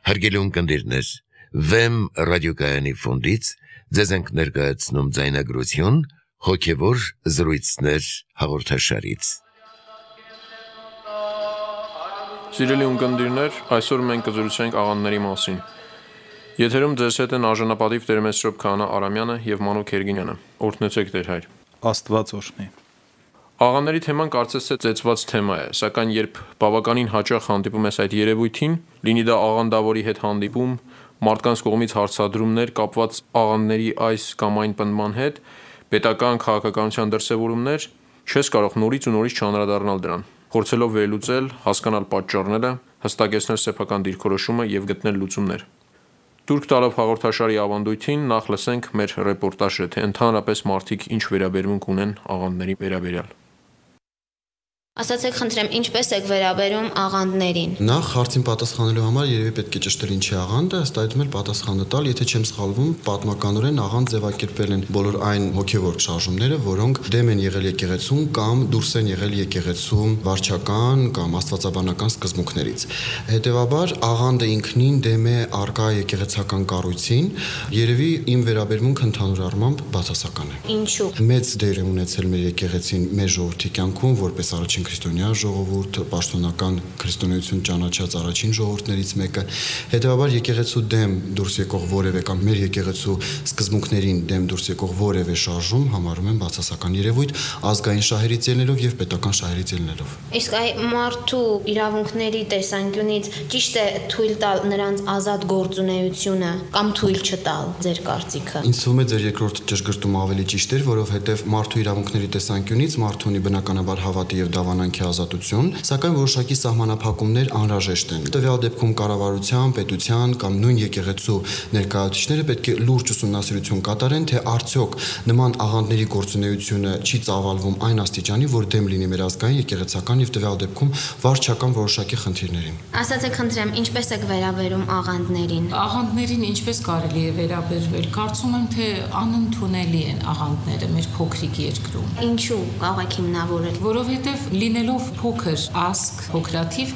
Հարգելի ունկնդիրներ, Վեմ ռադիոկայանի ֆոնդից ձեզ ենք ներկայացնում ձայնագրություն հոգևոր զրույցներ հաղորդաշարից։ Սիրելի ունկնդիրներ, այսօր մենք կզրուցենք աղանդների մասին։ Եթերում ձեզ հետ են արժանապատիվ Տեր-Մեսրոպ Քահանա Արամյանը եւ Մանուկ Երգինյանը։ Օրհնեցեք Տեր հայր։ Աստված օրհնի։ Աղանդների թեման կարծես թե ծեծված թեմա է, սակայն երբ բավականին հաճախ հանդիպում ես այդ երևույթին, լինի դա աղանդավորի հետ հանդիպում, մարդկանց կողմից հարցադրումներ կապված աղանդների այս կամ այն պնդման հետ, պետական քաղաքականության դրսևորումներ, չես կարող նորից ու նորից չանդրադառնալ դրան, փորձելով վերլուծել, հասկանալ պատճառները, հստակեցնել սեփական դիրքորոշումը եւ գտնել լուծումներ։ Տուրք տալով հաղորդաշարի ավանդույթին նախ լսենք մեր ռեպորտաժը, թե ընդհանրապես մարդիկ ինչ վերաբերմունք ունեն աղանդների վերաբերյալ։ Ասացեք խնդրեմ, ինչպես եք վերաբերում աղանդներին։ Նախ հարցին պատասխանելու համար երևի պետք է ճշտել ինչի աղանդը, ըստ այդմ էլ պատասխանը տալ, եթե չեմ սխալվում, պատմականորեն աղանդ ձևակերպվել են բոլոր այն հոգևոր շարժումները, որոնք դեմ են եղել եկեղեցուն կամ դուրս են եղել եկեղեցու վարչական կամ աստվածաբանական սկզբունքներից։ Հետևաբար աղանդը ինքնին դեմ է առկա եկեղեցական կառույցին, երևի իմ վերաբերմունքը ընդհանուր առմամբ բացասական է։ Ինչու՞։ Մեծ դեր է ունեցել մեր եկեղեցին մեր ժողովրդի կյանքում, որպես առաջին քրիստոնյա ժողովուրդ, պաշտոնական քրիստոնեություն ճանաչած առաջին ժողովուրդներից մեկը, հետևաբար եկեղեցու դեմ դուրս եկող որևէ կամ մեր եկեղեցու սկզբունքներին դեմ դուրս եկող որևէ շարժում համարում եմ բացասական երևույթ ազգային շահերից ելնելով եւ պետական շահերից ելնելով։ Իսկ այ մարդու իրավունքների տեսանկյունից ճիշտ է թույլ տալ նրանց ազատ գործունեությունը կամ թույլ չտալ, ձեր կարծիքը։ Ինձ թվում է ձեր երկրորդ ճշգրտումը ավելի ճիշտ էր, որովհետեւ մարդու իրավունքների տեսանկյունից մարդու ունի բնականաբար հավատի եւ դավանանքի ազատություն, սակայն որոշակի սահմանափակումներ անհրաժեշտ են։ Տվյալ դեպքում կառավարության, պետության կամ նույն եկեղեցու ներկայացուցիչները պետք է լուրջ ուսումնասիրություն կատարեն, թե արդյոք նման աղանդների գործունեությունը չի ծավալվում այն աստիճանի, որ դեմ լինի մեր ազգային եկեղեցական եւ տվյալ դեպքում վարչական որոշակի խնդիրներին։ Ասացեք խնդրեմ, ինչպես եք վերաբերում աղանդներին։ Աղանդներին ինչպես կարելի է վերաբերվել։ Կարծում եմ, թե անընդունելի են աղանդները մեր փոքրիկ երկրում։ Ինչու՞ կարող եք հիմնավորել։ Որովհետև լինելով փոքր ազգ, փոքրաթիվ,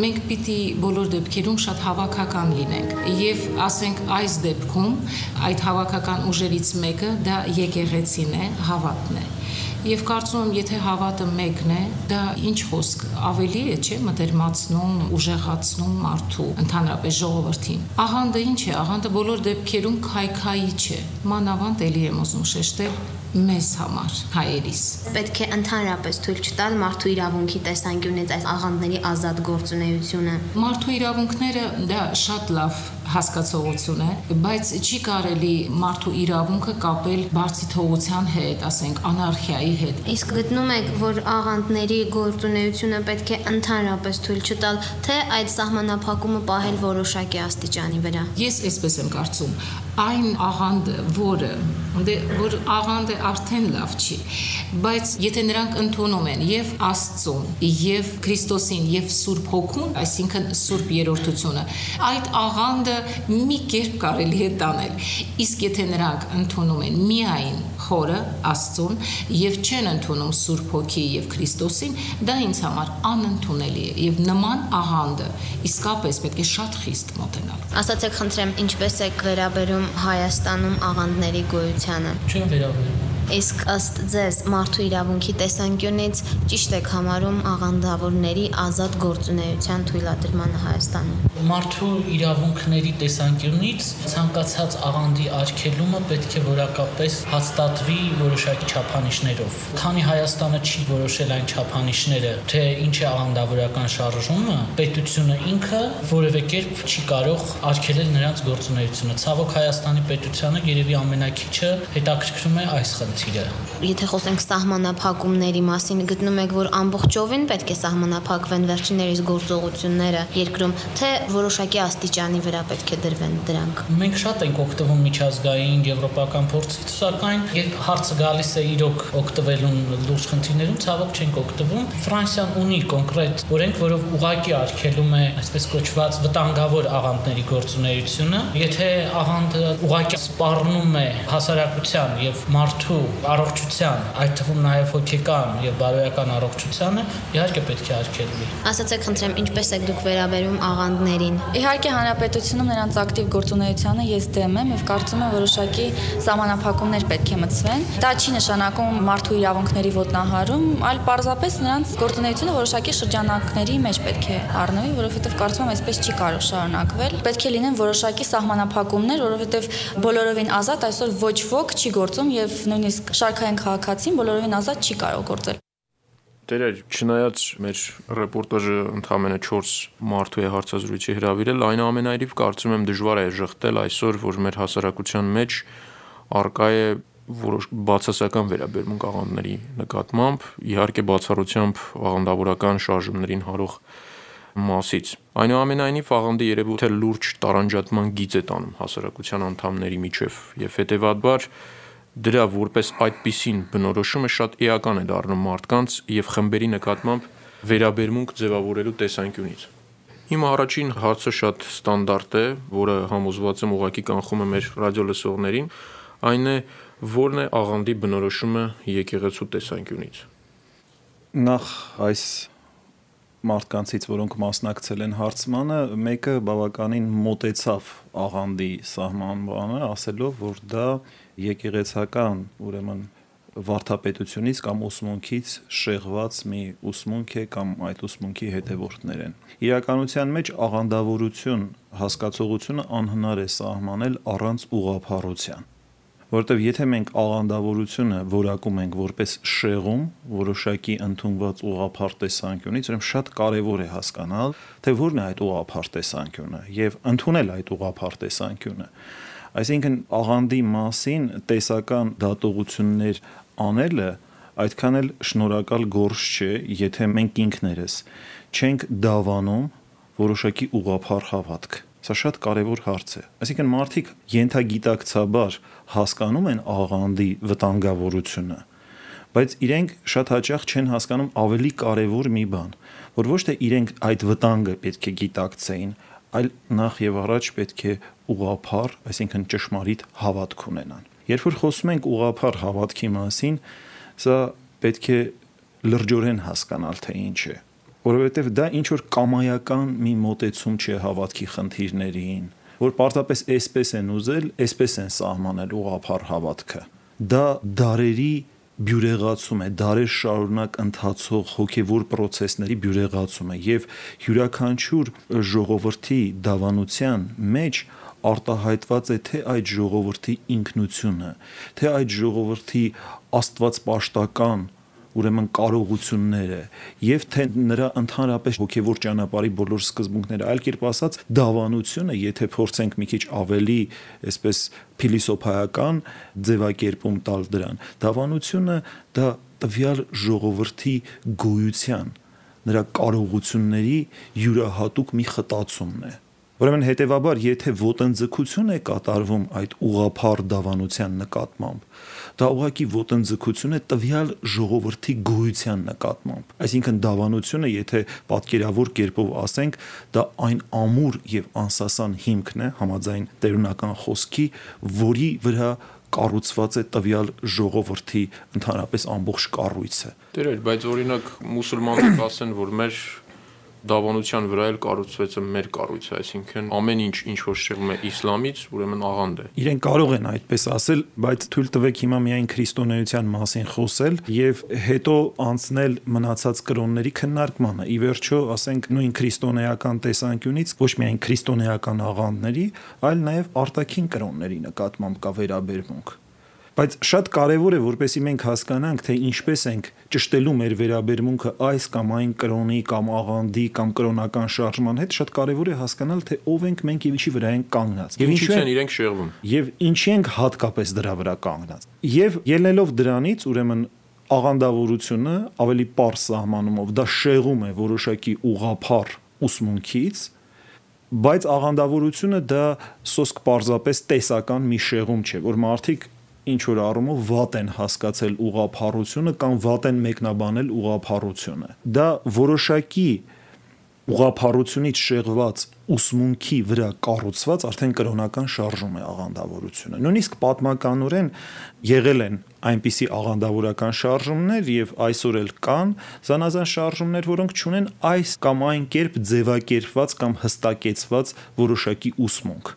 մենք պիտի բոլոր դեպքերում շատ հավաքական լինենք եւ ասենք այս դեպքում այդ հավաքական ուժերից մեկը դա եկեղեցին է, հավատն է։ Եվ կարծում եմ, եթե հավատը մեկն է, դա ինչ խոսք ավելի է, չէ, մտերմացնում, ուժեղացնում մարդու, ընդհանրապես ժողովրդին։ Աղանդը ինչ է, աղանդը բոլոր դեպքերում քայքայի չէ։ Մանավանդ էլի եմ ուզում շեշտել մեզ համար, հայերիս։ Պետք է ընդհանրապես թույլ չտալ մարդու իրավունքի տեսանկյունից այս աղանդների ազատ գործունեությունը։ Մարդու իրավունքները դա շատ լավ հասկացողություն է, բայց չի կարելի մարդու իրավունքը կապել բարձիթողության հետ, ասենք անարխիայի հետ։ Իսկ գտնում եք, որ աղանդների գործունեությունը պետք է ընդհանրապես թույլ չտալ, թե այդ սահմանափակումը պահել որոշակի աստիճանի վրա։ Ես այսպես եմ կարծում, այն աղանդը, որ աղանդը արդեն լավ չի, բայց եթե նրանք ընդունում են եւ Աստծուն, եւ Քրիստոսին, եւ Սուրբ Հոգուն, այսինքն Սուրբ Երրորդությունը, այդ աղանդը մի կերպ կարելի է տանել։ Իսկ եթե նրանք ընդունում են միայն Խորը, Աստծուն եւ չեն ընդունում Սուրբ Հոգի եւ Քրիստոսին, դա ինձ համար անընդունելի է եւ նման աղանդը իսկապես պետք է շատ խիստ մոտենալ։ Ասացեք խնդրեմ, ինչպես եք վերաբերում Հայաստանում աղանդների գոյությանը։ Չեմ վերաբերում։ Իսկ ըստ ձեզ մարդու իրավունքի տեսանկյունից ճիշտ եք համարում աղանդավորների ազատ գործունեության թույլատրմանը Հայաստանում։ Մարդու իրավունքների տեսանկյունից ցանկացած աղանդի արգելումը պետք է որակապես հաստատվի որոշակի չափանիշներով։ Քանի Հայաստանը չի որոշել այն չափանիշները, թե ինչ է աղանդավորական շարժումը, պետությունը ինքը որևէ կերպ չի կարող արգելել նրանց գործունեությունը։ Ցավոք Հայաստանի պետությանը երևի ամենակիչը հետաքրքրում է այս խնդիրը։ Եթե խոսենք սահմանափակումների մասին, գտնում եք, որ ամբողջովին պետք է սահմանափակվեն վերջիններիս գործողությունները երկրում, թե որոշակի աստիճանի վրա պետք է դրվեն դրանք։ Մենք շատ ենք օգտվում միջազգային եվրոպական փորձից, սակայն երբ հարցը գալիս է իրոք օգտվելուն լուրջ խնդիրներում, ցավոք չենք օգտվում։ Ֆրանսիան ունի կոնկրետ օրենք, որով ուղղակի արգելում է այսպես կոչված վտանգավոր աղանդների գործունեությունը։ Եթե աղանդը ուղղակի սպառնում է հասարակության եւ մարդու առողջության, այդ թվում նաև հոգեկան եւ բարոյական առողջությանը իհարկե պետք է արգելվի։ Ասացեք, խնդրեմ, ինչպես եք դուք վերաբերում աղանդներին։ Իհարկե հանրապետությունում նրանց ակտիվ գործունեությանը ես դեմ եմ եւ կարծում եմ որոշակի սահմանափակումներ պետք է մտցվեն։ Դա չի նշանակում մարդու իրավունքների ոտնահարում, այլ պարզապես նրանց գործունեությունը որոշակի շրջանակների մեջ պետք է առնվի, որովհետեւ կարծում եմ այսպես չի կարող շարունակվել։ Պետք է լինեն որոշակի սահմանափակումներ, որովհետեւ բոլորովին ազատ այսօր ոչ ոք չի գործում եւ նույնիսկ շարքային քաղաքացին բոլորովին ազատ չի կարող գործել։ Տերեր, չնայած մեր ռեպորտաժը ընդամենը 4 մարդու է հարցազրույցի հրավիրել, այնուամենայնիվ կարծում եմ դժվար է ժխտել այսօր, որ մեր հասարակության մեջ առկա է որոշ բացասական վերաբերմունք աղանդների նկատմամբ, իհարկե բացառությամբ աղանդավորական շարժումներին հարող մասից։ Այնուամենայնիվ աղանդի երևույթը լուրջ տարանջատման գիծ է տանում հասարակության անդամների միջև եւ հետեւաբար դրա որպես այդպիսին բնորոշումը շատ էական է դառնում մարդկանց եւ խմբերի նկատմամբ վերաբերմունք ձևավորելու տեսանկյունից։ Իմ առաջին հարցը շատ ստանդարտ է, որը համոզված եմ ուղղակի կանխում է մեր ռադիոլսողներին, այն է, որն է աղանդի բնորոշումը եկեղեցու տեսանկյունից։ Նախ այս մարդկանցից, որոնք մասնակցել են հարցմանը, մեկը բավականին մոտեցավ աղանդի սահմանմանը, ասելով, որ դա եկեղեցական, ուրեմն վարդապետությունից կամ ուսմունքից շեղված մի ուսմունք է կամ այդ ուսմունքի հետևորդներ են։ Իրականության մեջ աղանդավորություն հասկացողությունը անհնար է սահմանել առանց ուղղափառության։ Որտեւ եթե մենք աղանդավորությունը որակում ենք որպես շեղում, որոշակի ընդունված ուղղափառ տեսանկյունից, ուրեմն շատ կարեւոր է հասկանալ, թե որն է այդ ուղղափառ տեսանկյունը եւ ընդունել այդ ուղղափառ տեսանկյունը։ Այսինքն աղանդի մասին տեսական դատողություններ անելը այդքան էլ շնորհակալ գործ չէ, եթե մենք ինքներս չենք դավանում որոշակի ուղղափառ հավատք։ Սա շատ կարևոր հարց է։ Այսինքն մարդիկ ենթագիտակցաբար հասկանում են աղանդի վտանգավորությունը, բայց իրենք շատ հաճախ չեն հասկանում ավելի կարևոր մի բան, որ ոչ թե իրենք այդ վտանգը պետք է գիտակցեին, այլ նախ եւ առաջ պետք է ուղղափառ, այսինքն ճշմարիտ հավատք ունենան։ Երբ որ խոսում ենք ուղղափառ հավատքի մասին, սա պետք է լրջորեն հասկանալ, թե ինչ է, որովհետեւ դա ինչ որ կամայական մի մոտեցում չէ հավատքի խնդիրներին, որ պարզապես այսպես են ուզել, այսպես են սահմանել ուղղափառ հավատքը։ Դա դարերի բյուրեղացում է, դարեր շարունակ ընթացող հոգևոր process-ների բյուրեղացում է եւ յուրաքանչյուր ժողովրդի դավանության մեջ արտահայտված է թե այդ ժողովրդի ինքնությունը, թե այդ ժողովրդի աստվածպաշտական ուրեմն կարողությունները եւ թե նրա ընդհանրապես հոգեվոր ճանապարհի բոլոր սկզբունքները, այլ կերպ ասած դավանությունը, եթե փորձենք մի քիչ ավելի այսպես փիլիսոփայական ձևակերպում տալ դրան, դավանությունը դա տվյալ ժողովրդի գոյության, նրա կարողությունների յուրահատուկ մի խտացումն է։ Ուրեմն հետեւաբար, եթե ոտնձգություն է կատարվում այդ ուղղափառ դավանության նկատմամբ, դա ուղղակի ոտնձգություն է տվյալ ժողովրդի գոյության նկատմամբ։ Այսինքն դավանությունը, եթե պատկերավոր կերպով ասենք, դա այն ամուր եւ անսասան հիմքն է համաձայն տերունական խոսքի, որի վրա կառուցված է տվյալ ժողովրդի ընդհանրապես ամբողջ կառույցը։ Տերեր, բայց օրինակ մուսուլմանները կասեն, որ մեր դավանության վրա էլ կառուցվեց մեր կառույցը, այսինքն ամեն ինչ որ շեղում է իսլամից, ուրեմն աղանդ է։ Իրենք կարող են այդպես ասել, բայց թույլ տվեք հիմա միայն քրիստոնեության մասին խոսել եւ հետո անցնել մնացած կրոնների քննարկմանը։ Ի վերջո, ասենք նույն քրիստոնեական տեսանկյունից ոչ միայն քրիստոնեական աղանդների, այլ նաեւ արտաքին կրոնների նկատմամբ կա վերաբերմունք։ Բայց շատ կարևոր է, որպեսզի մենք հասկանանք, թե ինչպես ենք ճշտելու մեր վերաբերմունքը այս կամ այն կրոնի կամ աղանդի կամ կրոնական շարժման հետ, շատ կարևոր է հասկանալ, թե ով ենք մենք եւ ինչի վրա ենք կանգնած։ Եվ ինչու են իրենք շեղվում։ Եվ ինչի ենք հատկապես դրա վրա կանգնած։ Եվ ելնելով դրանից, ուրեմն աղանդավորությունը ավելի պարզ սահմանումով դա շեղում է որոշակի ուղղափառ ուսմունքից, բայց աղանդավորությունը դա սոսկ պարզապես տեսական մի շեղում չէ, որ մարդիկ ինչ որ առումով վատ են հասկացել ուղղափառությունը կամ վատ են մեկնաբանել ուղղափառությունը։ Դա որոշակի ուղղափառությունից շեղված ուսմունքի վրա կառուցված արդեն կրոնական շարժում է աղանդավորությունը։ Նույնիսկ պատմականորեն եղել են այնպիսի աղանդավորական շարժումներ եւ այսօր էլ կան զանազան շարժումներ, որոնք ունեն այս կամ այն կերպ ձևակերպված կամ հստակեցված որոշակի ուսմունք։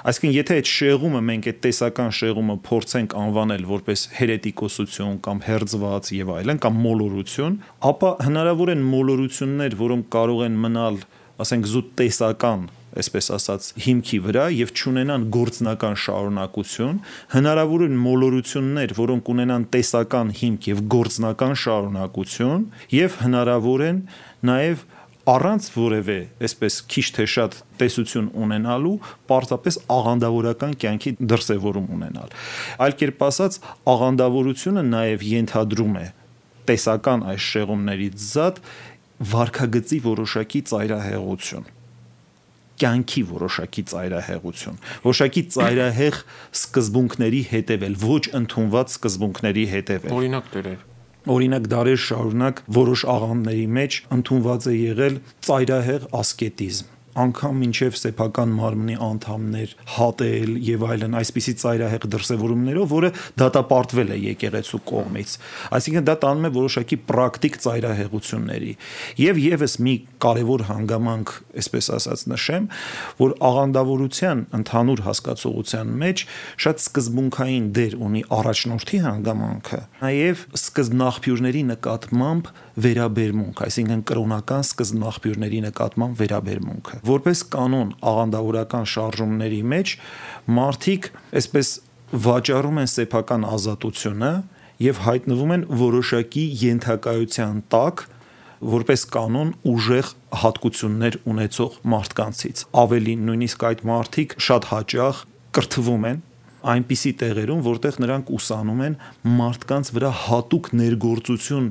Այսինքն, եթե այդ շեղումը մենք այդ տեսական շեղումը փորձենք անվանել որպես հերետիկոսություն կամ հերձված եւ այլն կամ մոլորություն, ապա հնարավոր են մոլորություններ, որոնք կարող են մնալ, ասենք, զուտ տեսական, այսպես ասած, հիմքի վրա եւ չունենան գործնական շարունակություն, հնարավոր են մոլորություններ, որոնք ունենան տեսական հիմք եւ գործնական շարունակություն, եւ հնարավոր են նաեւ առանց որևէ, այսպես քիչ թե շատ տեսություն ունենալու, պարզապես աղանդավորական կյանքի դրսևորում ունենալ։ Այլ կերպ ասած, աղանդավորությունը նաև ենթադրում է տեսական այս շեղումներից զատ վարքագծի որոշակի ծայրահեղություն, կյանքի որոշակի ծայրահեղություն, որոշակի ծայրահեղ սկզբունքների հետևել, ոչ ընդունված սկզբունքների հետևել։ Օրինակ դերեր։ Օրինակ դարեր շարունակ որոշ աղանդների մեջ ընդունված է եղել ծայրահեղ ասկետիզմ, անգամ մինչև սեփական մարմնի անդամներ հատել եւ այլն, այսպիսի ծայրահեղ դրսևորումներով, որը դատապարտվել է եկեղեցու կողմից։ Այսինքն դա տանում է որոշակի պրակտիկ ծայրահեղությունների։ Եվ եւս մի կարևոր հանգամանք, այսպես ասած, նշեմ, որ աղանդավորության ընդհանուր հասկացողության մեջ շատ սկզբունքային դեր ունի առաջնորդի հանգամանքը, նաեւ սկզբնաղբյուրների նկատմամբ վերաբերմունք, այսինքն կրոնական սկզբնաղբյուրների նկատմամբ վերաբերմունքը։ Որպես կանոն աղանդավորական շարժումների մեջ մարդիկ այսպես վաճառում են սեփական ազատությունը եւ հայտնվում են որոշակի ենթակայության տակ, որպես կանոն ուժեղ հատկություններ ունեցող մարդկանցից։ Ավելին, նույնիսկ այդ մարդիկ շատ հաճախ կրթվում են այնպիսի տեղերում, որտեղ նրանք ուսանում են մարդկանց վրա հատուկ ներգործություն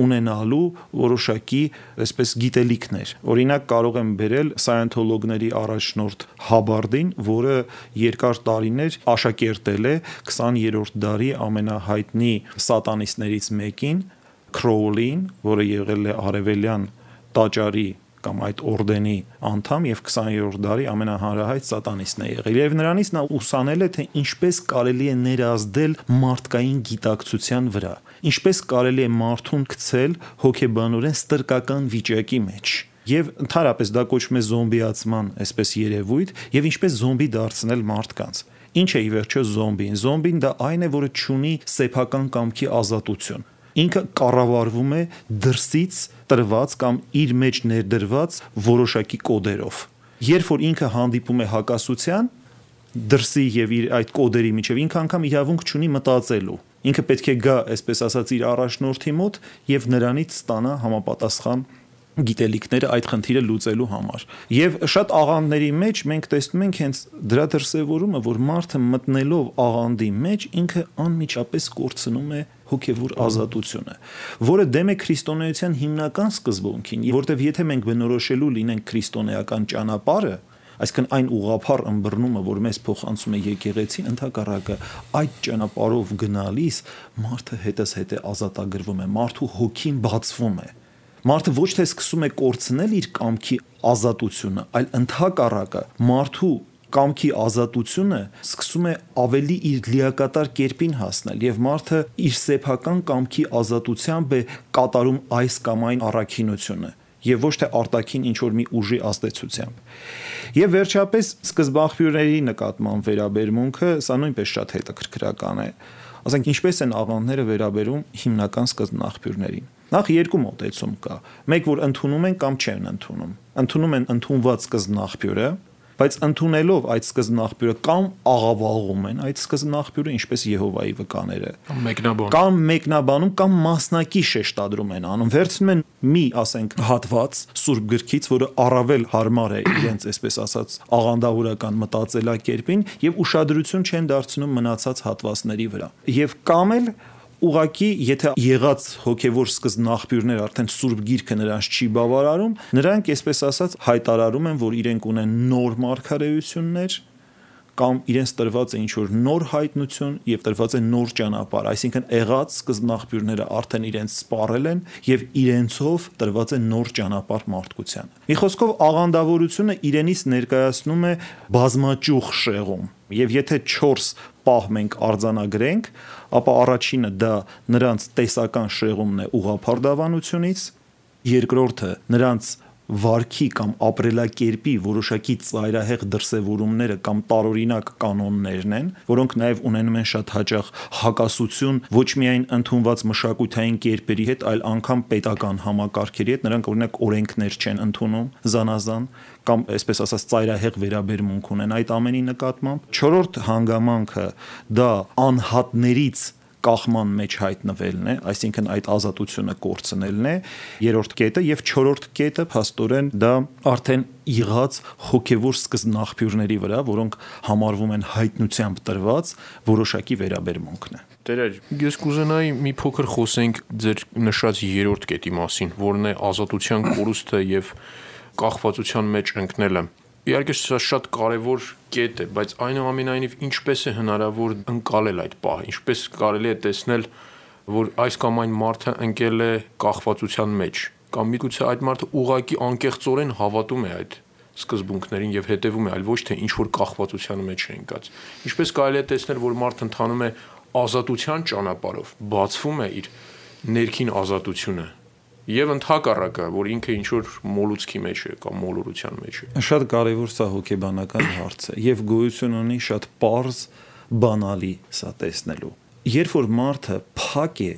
ունենալու որոշակի, այսպես, գիտելիքներ։ Օրինակ կարող եմ բերել սայենթոլոգների առաջնորդ Հաբարդին, որը երկար տարիներ աշակերտել է 20-րդ դարի ամենահայտնի սատանիստներից մեկին, Քրոուլին, որը եղել է արևելյան տաճարի կամ այդ օրդենի անդամ եւ 20-րդ դարի ամենահանրահայտ սատանիստն է եղել։ Եվ նրանից նա ուսանել է, թե ինչպես կարելի է ներազդել մարդկային գիտակցության վրա, ինչպես կարելի է մարդուն գցել հոգեբանորեն ստրկական վիճակի մեջ։ Եվ ընդհանրապես դա կոչվում է զոմբիացման այսպես երևույթ, եւ ինչպես զոմբի դարձնել մարդկանց։ Ինչ է ի վերջո զոմբին։ Զոմբին դա այն է, որը չունի սեփական կամքի ազատություն։ Ինքը կառավարվում է դրսից տրված կամ իր մեջ ներդրված որոշակի կոդերով։ Երբ որ ինքը հանդիպում է հակասության, դրսի եւ իր այդ կոդերի միջև ինքը անգամ իրավունք չունի մտածելու։ Ինքը պետք է գա, այսպես ասած, իր առաջնորդի մոտ եւ նրանից ստանա համապատասխան գիտելիքները այդ խնդիրը լուծելու համար։ Եվ շատ աղանդների մեջ մենք տեսնում ենք հենց դրա դրսևորումը, որ մարդը մտնելով աղանդի մեջ ինքը անմիջապես կորցնում է հոգևոր ազատությունը, որը դեմ է քրիստոնեության հիմնական սկզբունքին, որտեղ եթե մենք բնորոշելու լինենք քրիստոնեական ճանապարհը, այսինքն այն ուղղափառ ըմբռնումը, որ մեզ փոխանցում է եկեղեցին, ընդհակառակը այդ ճանապարհով գնալիս մարդը հետզհետե ազատագրվում է, մարդու հոգին բացվում է։ Մարդը ոչ թե սկսում է կորցնել իր կամքի ազատությունը, այլ ընդհակառակը մարդու կամքի ազատությունը սկսում է ավելի իր լիակատար կերպին հասնել եւ մարդը իր սեփական կամքի ազատությամբ է կատարում այս կամ այն առաքինությունը եւ ոչ թե արտաքին ինչ որ մի ուժի ազդեցությամբ։ Եվ վերջապես սկզբաղբյուրների նկատմամբ վերաբերմունքը, սա նույնպես շատ հետաքրքրական է։ Ասենք ինչպես են աղանդները վերաբերում հիմնական սկզբնաղբյուրներին։ Նախ երկու մոտեցում կա։ Մեկ որ ընդունում են կամ չեն ընդունում։ Ընդունում են ընդունված սկզբնաղբյուրը, բայց ընդունելով այդ սկզբնաղբյուրը կամ աղավաղում են այդ սկզբնաղբյուրը, ինչպես Եհովայի վկաները, կամ մեկնաբանում կամ մասնակի շեշտադրում են անում, վերցնում են մի, ասենք, հատված Սուրբ գրքից, որը առավել հարմար է իրենց, այսպես ասած, աղանդավորական մտածելակերպին եւ ուշադրություն չեն դարձնում մնացած հատվածների վրա։ Եվ կամ էլ ուղղակի, եթե եղած հոգևոր սկզբնաղբյուրներ արդեն Սուրբ Գիրքը նրանց չի բավարարում, նրանք, այսպես ասած, հայտարարում են, որ իրենք ունեն նոր մարգարեություններ կամ իրենց տրված է ինչ-որ նոր հայտնություն եւ տրված է նոր ճանապարհ, այսինքն եղած սկզբնաղբյուրները արդեն իրենց սպառել են եւ իրենցով տրված է նոր ճանապարհ մարդկությանը։ Մի խոսքով աղանդավորությունը իրենից ներկայացնում է բազմաճյուղ շեղում, եւ եթե 4 պահ մենք արձանագրենք, ապա առաջինը դա նրանց տեսական շեղումն է ուղղափառ դավանությունից, երկրորդը նրանց վարքի կամ ապրելակերպի որոշակի ծայրահեղ դրսևորումները կամ տարօրինակ կանոններն են, որոնք նաև ունենում են շատ հաճախ հակասություն ոչ միայն ընդունված մշակութային կերպերի հետ, այլ անգամ պետական համակարգերի հետ, նրանք օրինակ օրենքներ չեն ընդունում զանազան կամ այսպես ասած ծայրահեղ վերաբերմունք ունեն այդ ամենի նկատմամբ։ Չորրորդ հանգամանքը դա անհատներից կախման մեջ հայտնվելն է, այսինքն այդ ազատությունը կորցնելն է, երրորդ կետը եւ չորրորդ կետը փաստորեն դա արդեն იღած հոգեվոր սկզբնաղբյուրների վրա, որոնք համարվում են հայտնությամբ տրված որոշակի վերաբերմունքն է։ Տերեր, ես կուզենայի մի փոքր խոսենք ձեր նշած երրորդ կետի մասին, որն է ազատության կորուստը եւ կախվածության մեջ ընկնելը։ Իհարկե սա շատ կարևոր կետ է, բայց այնուամենայնիվ ինչպես է հնարավոր ընկալել այդ պահը, ինչպես կարելի է տեսնել, որ այս կամ այն մարդը ընկել է կախվածության մեջ, կամ միգուցե այդ մարդը ուղղակի անկեղծորեն հավատում է այդ սկզբունքներին եւ հետեւում է, այլ ոչ թե ինչ որ կախվածության մեջ է ընկած։ Ինչպես կարելի է տեսնել, որ մարդը ընթանում է ազատության ճանապարհով, բացվում է իր ներքին ազատությունը եւ ընդհակառակը, որ ինքը ինչ որ մոլուցքի մեջ է կամ մոլորության մեջ է։ Շատ կարևոր սա հոգեբանական հարց է եւ գոյություն ունի շատ պարզ բանալի սա տեսնելու։ Երբ որ մարդը փակ է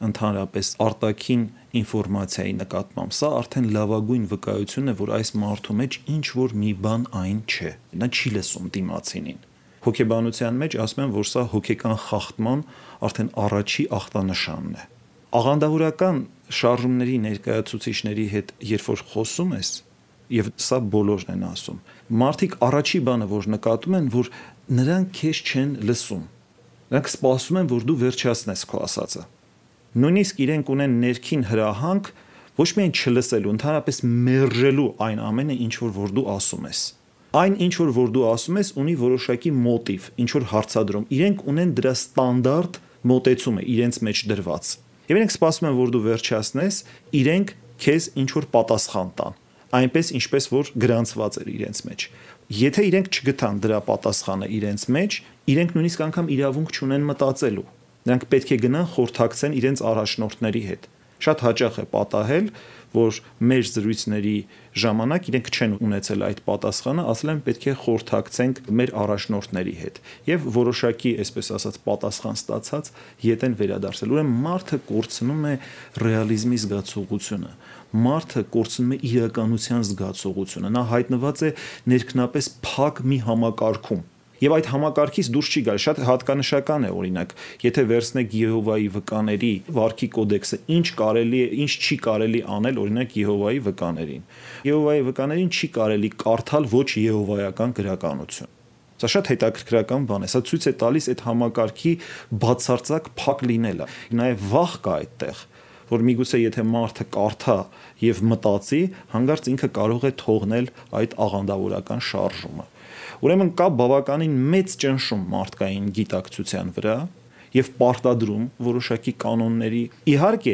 ընդհանրապես արտաքին ինֆորմացիայի նկատմամբ, սա արդեն լավագույն վկայություն է, որ այս մարդու մեջ ինչ որ մի բան այն չէ։ Նա չի լսում դիմացինին։ Հոգեբանության մեջ ասում են, որ սա հոգեկան խախտման արդեն առաջի ախտանշանն է։ Աղանդավորական շարժումների ներկայացուցիչների հետ երբ որ խոսում ես, եւ սա բոլորն են ասում, մարդիկ առաջի բանը որ նկատում են, որ նրանք քեզ չեն լսում, նրանք սպասում են, որ դու վերջացնես քո ասածը, նույնիսկ իրենք ունեն ներքին հրահանգ ոչ միայն չլսելու, ընդհանրապես մերժելու այն ամենը, ինչ որ դու ասում ես։ Այն ինչ որ դու ասում ես ունի որոշակի մոտիվ, ինչ որ հարցադրում, իրենք ունեն դրա ստանդարտ մոտեցումը իրենց մեջ դրված։ Եվ իրենք սպասում են, որ դու վերջացնես, իրենք քեզ ինչ-որ պատասխան տան, այնպես ինչպես որ գրանցված էր իրենց մեջ։ Եթե իրենք չգտան դրա պատասխանը իրենց մեջ, իրենք նույնիսկ անգամ իրավունք չունեն մտածելու։ Նրանք պետք է գնան խորհրդակցեն իրենց առաջնորդների հետ։ Շատ հաճախ է պատահել, որ մեր զրույցների ժամանակ իրենք չեն ունեցել այդ պատասխանը, ասել են պետք է խորհրդակցենք մեր առաջնորդների հետ եւ որոշակի, այսպես ասած, պատասխան ստացած ետ են վերադարձել։ Ուրեմն մարդը կորցնում է ռեալիզմի զգացողությունը, մարդը կորցնում է իրականության զգացողությունը, նա հայտնված է ներքնապես փակ մի համակարգում։ Եվ այդ համակարգից դուրս չի գալ, շատ հատկանշական է օրինակ, եթե վերցնեք Եհովայի վկաների վարքի կոդեքսը, ինչ կարելի է, ինչ չի կարելի անել օրինակ Եհովայի վկաներին։ Եհովայի վկաներին չի կարելի կարդալ ոչ եհովայական գրականություն։ Սա շատ հետաքրքրական բան է, սա ցույց է տալիս այդ համակարգի բացարձակ փակ լինելը։ Նաև վախ կա այդտեղ, որ միգուցե եթե մարդը կարդա եւ մտածի, հանկարծ ինքը կարող է թողնել այդ աղանդավորական շարժումը։ Ուրեմն կա բավականին մեծ ճնշում մարդկային գիտակցության վրա եւ պարտադրում որոշակի կանոնների։ Իհարկե,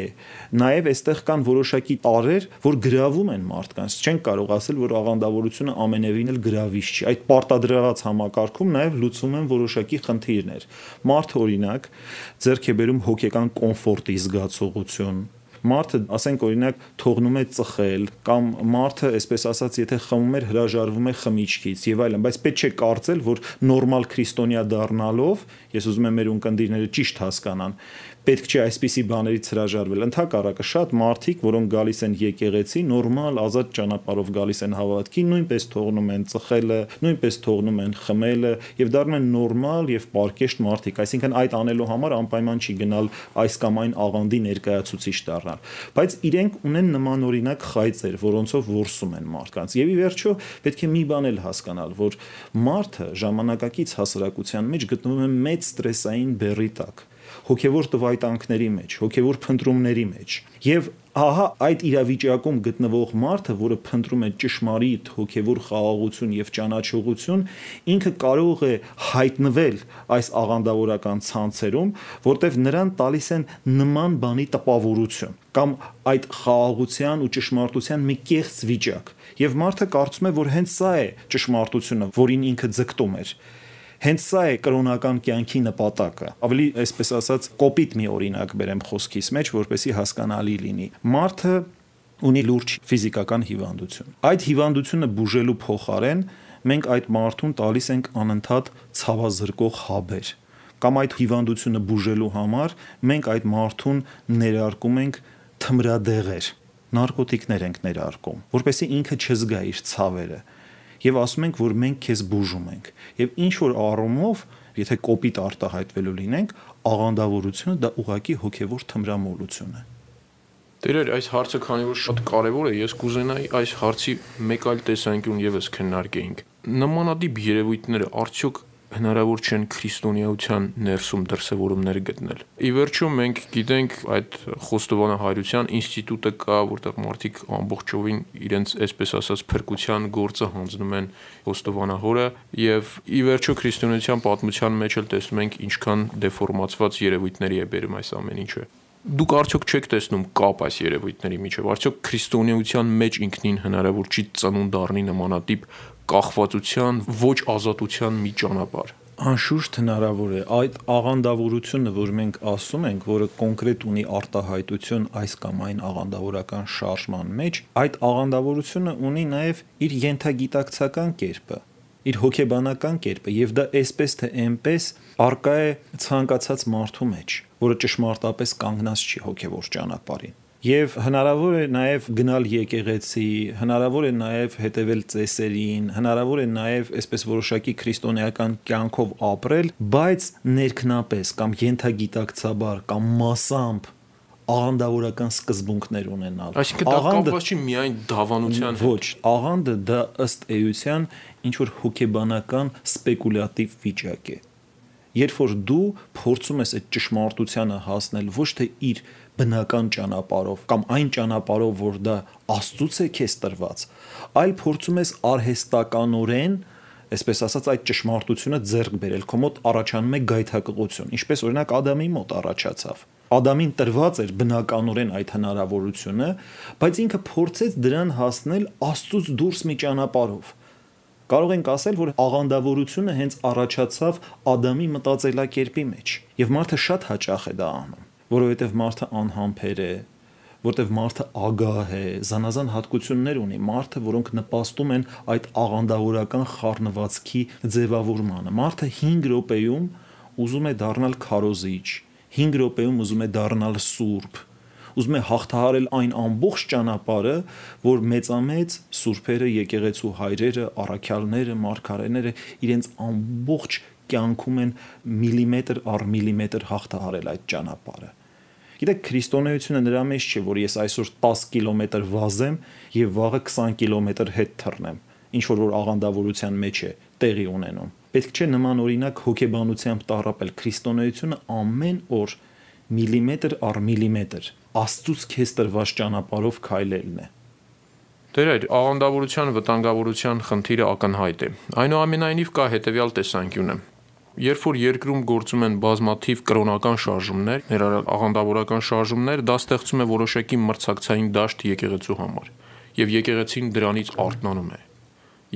նաեւ այստեղ կան որոշակի տարրեր, որ գրավում են մարդկանց։ Չեն կարող ասել, որ աղանդավորությունը ամենևին էլ գրավիչ չի։ Այդ պարտադրված համակարգում նաեւ լուծվում են որոշակի խնդիրներ։ Մարդը օրինակ ձեռք է բերում հոգեկան կոմֆորտի զգացողություն։ Մարդը, ասենք օրինակ, թողնում է ծխել կամ մարդը, այսպես ասած, եթե խմում էր, հրաժարվում է խմիչքից եւ այլն, բայց պետք չէ կարծել, որ նորմալ քրիստոնյա դառնալով, ես ուզում եմ մեր ունկնդիրները ճիշտ հասկանան, պետք չէ այսպիսի բաներից հրաժարվել։ Ընդհակառակը շատ մարդիկ, որոնք գալիս են եկեղեցի, նորմալ ազատ ճանապարհով գալիս են հավատքի, նույնպես թողնում են ծխելը, նույնպես թողնում են խմելը եւ դառնում են նորմալ եւ պարկեշտ մարդիկ, այսինքն այդ անելու համար անպայման չի գնալ այս կամ այն աղանդի ներկայացուցիչ դառնալ, բայց իրենք ունեն նմանօրինակ խայծեր, որոնցով որսում են մարդկանց։ Եվ ի վերջո պետք է մի բան էլ հասկանալ, որ մարդը ժամանակակից հասարակության մեջ գտնվում է մեծ ստրեսային բեռի տակ։ հոգևոր տվայտանքների մեջ, հոգևոր փնտրումների մեջ։ Եվ ահա այդ իրավիճակում գտնվող մարդը, որը փնտրում է ճշմարիտ հոգևոր խաղաղություն եւ ճանաչողություն, ինքը կարող է հայտնվել այս աղանդավորական ցանցերում, որտեղ նրան տալիս են նման բանի տպավորություն կամ այդ խաղաղության ու ճշմարտության մի կեղծ վիճակ։ Եվ մարդը կարծում է, որ հենց սա է ճշմարտությունը, որին ինքը ձգտում էր։ Հենց սա է կրոնական կյանքի նպատակը։ Ավելի այսպես ասած կոպիտ մի օրինակ բերեմ խոսքիս մեջ, որպեսզի հասկանալի լինի։ Մարդը ունի լուրջ ֆիզիկական հիվանդություն։ Այդ հիվանդությունը բուժելու փոխարեն մենք այդ մարդուն տալիս ենք անընդհատ ցավազրկող հաբեր։ Կամ այդ հիվանդությունը բուժելու համար մենք այդ մարդուն ներարկում ենք թմրադեղեր, նարկոտիկներ ենք ներարկում, որպեսզի ինքը չզգա իր ցավերը։ Եվ ասում ենք, որ մենք քեզ բուժում ենք։ Եվ ինչ որ առումով, եթե կոպիտ արտահայտվելու լինենք, աղանդավորությունը դա ուղղակի հոգևոր թմրամոլություն է։ Տերեր, այս հարցը քանի որ շատ կարևոր է, ես կուզենայի այս հարցի մեկ այլ տեսանկյուն եւս քննարկեինք։ Նմանատիպ երևույթները արդյոք հնարավոր չեն քրիստոնեության ներսում դրսևորումներ գտնել։ Ի վերջո մենք գիտենք այդ խոստովանահայրության ինստիտուտը կա, որտեղ մարդիկ ամբողջովին իրենց այսպես ասած փրկության գործը հանձնում են խոստովանահորը, եւ ի վերջո քրիստոնեության պատմության մեջ էլ տեսնում ենք ինչքան դեֆորմացված երևույթների է բերում այս ամեն ինչը։ Դուք արդյոք չեք տեսնում կապ այս երևույթների միջև, արդյոք քրիստոնեության մեջ ինքնին հնարավոր չի ծնունդ առնի նմանատիպ կախվածության, ոչ ազատության մի ճանապարհ։ Անշուշտ հնարավոր է։ Այդ աղանդավորությունը, որ մենք ասում ենք, որը կոնկրետ ունի արտահայտություն այս կամ այն աղանդավորական շարժման մեջ, այդ աղանդավորությունը ունի նաև իր ենթագիտակցական կերպը, իր հոգեբանական կերպը, եւ դա այսպես թե այնպես արկա է ցանկացած մարդու մեջ, որը ճշմարտապես կանգնած չի հոգևոր ճանապարհին։ Եվ հնարավոր է նաև գնալ եկեղեցի, հնարավոր է նաև հետևել ծեսերին, հնարավոր է նաև այսպես որոշակի քրիստոնեական կյանքով ապրել, բայց ներքնապես կամ ենթագիտակցաբար կամ մասամբ աղանդավորական սկզբունքներ ունենալ։ Այսինքն դա կապված չի միայն դավանության հետ։ Ոչ, աղանդը դա ըստ էության ինչ որ հոգեբանական սպեկուլյատիվ վիճակ է։ Երբ որ դու փորձում ես այդ ճշմարտությանը հասնել ոչ թե իր բնական ճանապարհով կամ այն ճանապարհով, որ դա Աստծուց է քեզ տրված, այլ փորձում ես արհեստականորեն, այսպես ասած, այդ ճշմարտությունը ձեռք բերել, քո մոտ առաջանում է գայթակղություն, ինչպես օրինակ Ադամի մոտ առաջացավ։ Ադամին տրված էր բնականորեն այդ հնարավորությունը, բայց ինքը փորձեց դրան հասնել Աստծուց դուրս մի ճանապարհով։ Կարող ենք ասել, որ աղանդավորությունը հենց առաջացավ Ադամի մտածելակերպի մեջ, եւ մարդը շատ հաճախ է դա անում, որովհետեւ մարդը անհամբեր է, որտեղ մարդը ագահ է, զանազան հատկություններ ունի, մարդը, որոնք նպաստում են այդ աղանդավորական խառնվածքի ձևավորմանը։ Մարդը 5 րոպեում ուզում է դառնալ քարոզիչ, 5 րոպեում ուզում է դառնալ սուրբ, ուզում է հաղթահարել այն ամբողջ ճանապարհը, որ մեծամեծ սուրբերը, եկեղեցու հայրերը, առաքյալները, մարգարեները իրենց ամբողջ կյանքում են միլիմետր առ միլիմետր հաղթահարել այդ ճանապարհը։ Գիտեք, քրիստոնեությունը նրա մեջ չէ, որ ես այսօր 10 կիլոմետր վազեմ եւ վաղը 20 կիլոմետր հետ թռնեմ, ինչ որ աղանդավորության մեջ է տեղի ունենում։ Պետք չէ նման օրինակ հոգեբանությամբ տառապել։ Քրիստոնեությունը ամեն օր միլիմետր առ միլիմետր Աստծուց քեզ տրված ճանապարհով քայլելն է։ Տերեր, աղանդավորության վտանգավորության խնդիրը ակնհայտ է։ Այնուամենայնիվ կա հետևյալ տեսանկյունը։ Երբ որ երկրում գործում են բազմաթիվ կրոնական շարժումներ, ներառյալ աղանդավորական շարժումներ, դա ստեղծում է որոշակի մրցակցային դաշտ եկեղեցու համար, եւ եկեղեցին դրանից արթնանում է,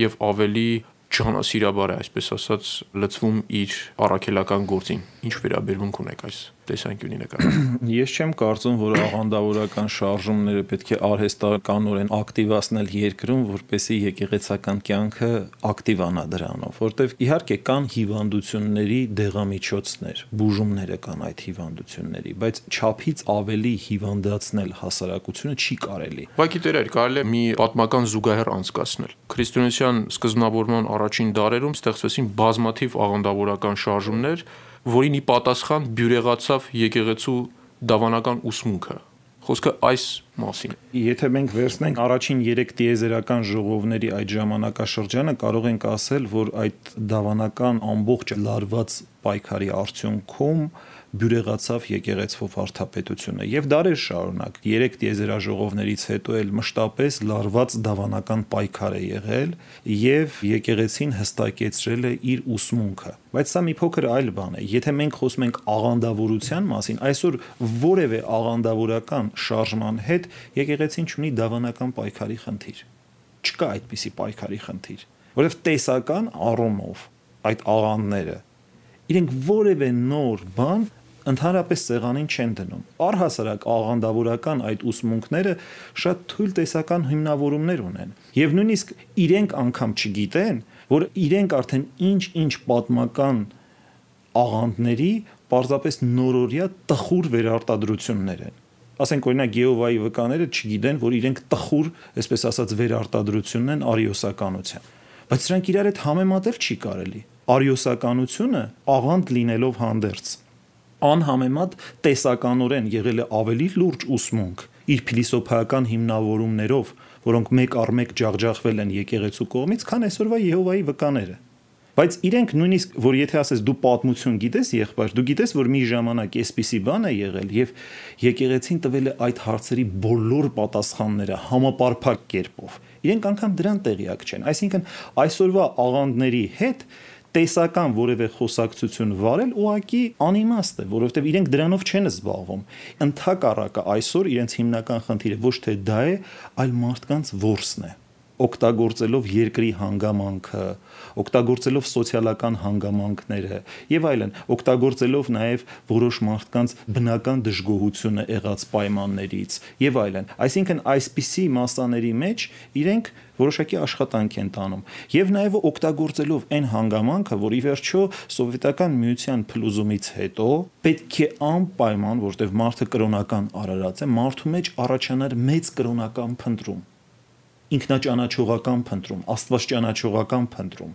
եւ ավելի ջանասիրաբար է, այսպես ասած, լծվում իր առաքելական գործին։ Ինչ վերաբերմունք ունեք այս տեսանկյունի նկատմամբ։ Ես չեմ կարծում, որ աղանդավորական շարժումները պետք է արհեստականորեն ակտիվացնել երկրում, որպեսզի եկեղեցական կյանքը ակտիվանա դրանով, որտեղ իհարկե կան հիվանդությունների դեղամիջոցներ, բուժումները կան այդ հիվանդությունների, բայց չափից ավելի հիվանդացնել հասարակությունը չի կարելի։ Ուղղակի տերեր, կարելի է մի պատմական զուգահեռ անցկացնել։ Քրիստոնեության սկզբնավորման առաջին դարերում ստեղծվեցին բազմաթիվ աղանդավորական շարժումներ, որին ի պատասխան բյուրեղացավ եկեղեցու դավանական ուսմունքը։ Խոսքը այս մասին։ Եթե մենք վերցնենք առաջին 3 տիեզերական ժողովների այդ ժամանակաշրջանը, կարող ենք ասել, որ այդ դավանական ամբողջ լարված պայքարի արդյունքում բյուրեղացավ եկեղեցվով վարդապետությունը եւ դարեր շարունակ 3 տիեզերաժողովներից հետո էլ մշտապես լարված դավանական պայքար է եղել եւ եկեղեցին հստակեցրել է իր ուսմունքը, բայց սա մի փոքր այլ բան է։ Եթե մենք խոսում ենք աղանդավորության մասին, այսօր որևէ աղանդավորական շարժման հետ եկեղեցին ունի դավանական պայքարի խնդիր, չկա այդպիսի պայքարի խնդիր, որովհետեւ տեսական առումով այդ աղանդները իրենք որևէ նոր բան ընդհանրապես սեղանին չեն դնում։ Առհասարակ աղանդավորական այդ ուսմունքները շատ թույլ տեսական հիմնավորումներ ունեն եւ նույնիսկ իրենք անգամ չգիտեն, որ իրենք արդեն ինչ պատմական աղանդների պարզապես նորորյա տխուր վերարտադրություններ են։ Ասենք օրինակ Եհովայի վկաները չգիտեն, որ իրենք տխուր, այսպես ասած, վերարտադրությունն են արիոսականության, բայց սրանք իրար հետ համեմատել չի կարելի։ Արիոսականությունը աղանդ լինելով հանդերձ անհամեմատ տեսականորեն եղել է ավելի լուրջ ուսմունք իր փիլիսոփայական հիմնավորումներով, որոնք մեկ առ մեկ ջախջախվել են եկեղեցու կողմից, քան այսօրվա Եհովայի վկաները։ Բայց իրենք նույնիսկ, որ եթե ասես դու պատմություն գիտես, եղբայր, դու գիտես, որ մի ժամանակ այսպիսի բան է եղել եւ եկեղեցին տվել է այդ հարցերի բոլոր պատասխանները համապարփակ կերպով։ Իրենք անգամ դրան տեղյակ չեն։ Այսինքն այսօրվա աղանդների հետ տեսական որևէ խոսակցություն վարել ուղղակի անիմաստ է, որովհետև իրենք դրանով չեն զբաղվում։ Ընդհակառակը այսօր իրենց հիմնական խնդիրը ոչ թե դա է, այլ մարդկանց որսն է, օգտագործելով երկրի հանգամանքը, օգտագործելով սոցիալական հանգամանքները եւ այլն, օգտագործելով նաեւ որոշ մարդկանց բնական դժգոհությունը եղած պայմաններից եւ այլն։ Այսինքն այսպիսի մասաների մեջ իրենք որոշակի աշխատանք են տանում եւ նաեւ օգտագործելով այն հանգամանքը, որ ի վերջո սովետական միության փլուզումից հետո պետք է անպայման, որտեղ մարդը կրոնական արարած է, մարդու մեջ առաջանար մեծ կրոնական փնտրում, ինքնաճանաչողական փնտրում, աստվածճանաչողական փնտրում։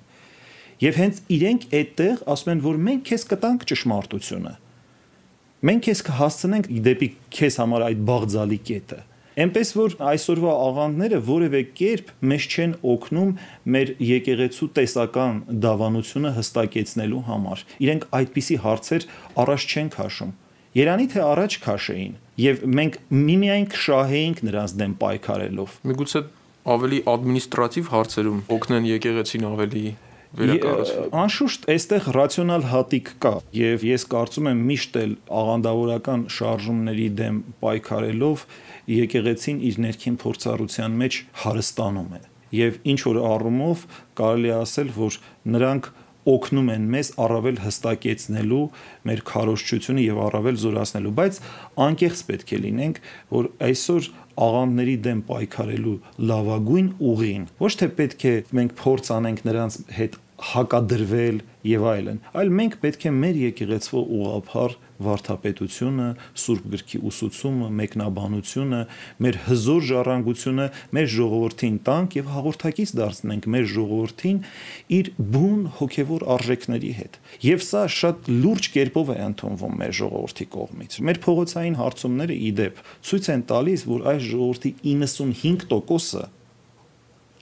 Եվ հենց իրենք այդտեղ ասում են, որ մենք քեզ կտանք ճշմարտությունը։ Մենք քեզ կհասցնենք դեպի քեզ համար այդ բաղձալի կետը։ Այնպես որ այսօրվա աղանդները որևէ կերպ մեզ չեն օգնում մեր եկեղեցու տեսական դավանությունը հստակեցնելու համար։ Իրենք այդպիսի հարցեր առաջ չեն քաշում։ Երանի թե առաջ քաշեին եւ մենք միմիայն կշահեինք նրանց դեմ պայքարելով։ Միգուցե ավելի ադմինիստրատիվ հարցերում օգնեն եկեղեցին ավելի վերակառուցվել։ Անշուշտ այստեղ ռացիոնալ հատիկ կա եւ ես կարծում եմ միշտ էլ աղանդավորական շարժումների դեմ պայքարելով եկեղեցին իր ներքին փորձառության մեջ հարստանում է եւ ինչ որ առումով կարելի է ասել, որ նրանք օգնում են մեզ առավել հստակեցնելու մեր քարոզչությունը եւ առավել զորացնելու, բայց անկեղծ պետք է լինենք, որ այսօր աղանդների դեմ պայքարելու լավագույն ուղին ոչ թե պետք է մենք փորձ անենք նրանց հետ հակադրվել եւ այլն, այլ մենք պետք է մեր եկեղեցվո ուղղափառ վարդապետությունը, Սուրբ գրքի ուսուցումը, մեկնաբանությունը, մեր հզոր ժառանգությունը մեր ժողովրդին տանք եւ հաղորդակից դարձնենք մեր ժողովրդին իր բուն հոգեվոր արժեքների հետ։ Եւ սա շատ լուրջ կերպով է ընդունվում մեր ժողովրդի կողմից։ Մեր փողոցային հարցումները ի դեպ ցույց են տալիս, որ այս ժողովրդի 95%-ը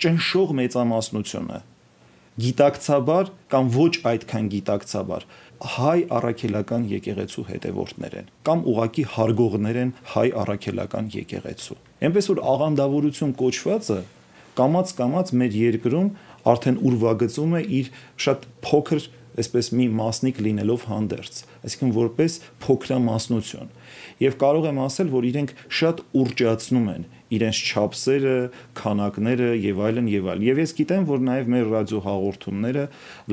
ճնշող մեծամասնությունը գիտակցաբար կամ ոչ այդքան գիտակցաբար հայ առաքելական եկեղեցու հետևորդներ են կամ ուղակի հարգողներ են հայ առաքելական եկեղեցու։ Այնպես որ աղանդավորություն կոչվածը կամաց մեր երկրում արդեն ուրվագծում է իր շատ փոքր այսպես մի մասնիկ լինելով հանդերձ, այսինքն որպես փոքրամասնություն։ Եվ կարող եմ ասել, որ իրենք շատ ուռճացնում են իրենց չափսերը, քանակները եւ այլն եւ այլն։ Եվ ես գիտեմ, որ նաեւ մեր ռադիո հաղորդումները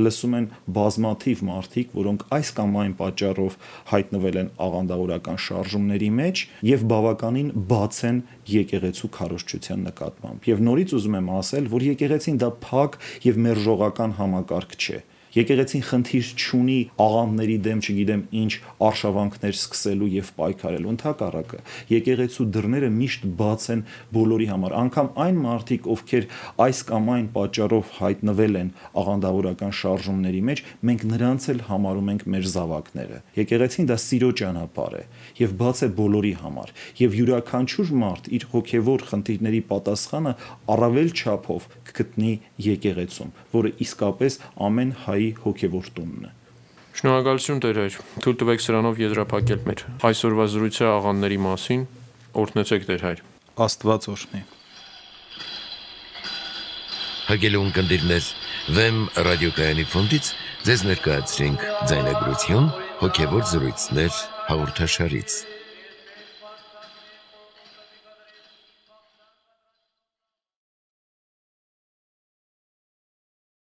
լսում են բազմաթիվ մարդիկ, որոնք այս կամ այն պատճառով հայտնվել են աղանդավորական շարժումների մեջ եւ բավականին բաց են եկեղեցու քարոզչության նկատմամբ։ Եվ նորից ուզում եմ ասել, որ եկեղեցին դա փակ եւ մերժողական համակարգ չէ։ Եկեղեցին խնդիր չունի աղանդների դեմ, չգիտեմ ինչ արշավանքներ սկսելու եւ պայքարելու, ընդհակառակը եկեղեցու դռները միշտ բաց են բոլորի համար, անգամ այն մարդիկ, ովքեր այս կամ այն պատճառով հայտնվել են աղանդավորական շարժումների մեջ, մենք նրանց էլ համարում ենք մեր զավակները։ Եկեղեցին դա սիրո ճանապարհ է եւ բաց է բոլորի համար, եւ յուրաքանչյուր մարդ իր հոգեվոր խնդիրների պատասխանը առավել չափով կգտնի եկեղեցում, որը իսկապես ամեն հայ հոգևոր տունն է։ Շնորհակալություն Տեր Հայր, թույլ տվեք սրանով եզրափակել մեր այսօրվա զրույցը աղանդների մասին, օրհնեցեք Տեր Հայր։ Աստված օրհնի։ Հարգելի ունկնդիրներ, Վեմ ռադիոկայանի ֆոնդից ձեզ ներկայացրինք ձայնագրություն հոգևոր զրույցներ հաղորդաշարից։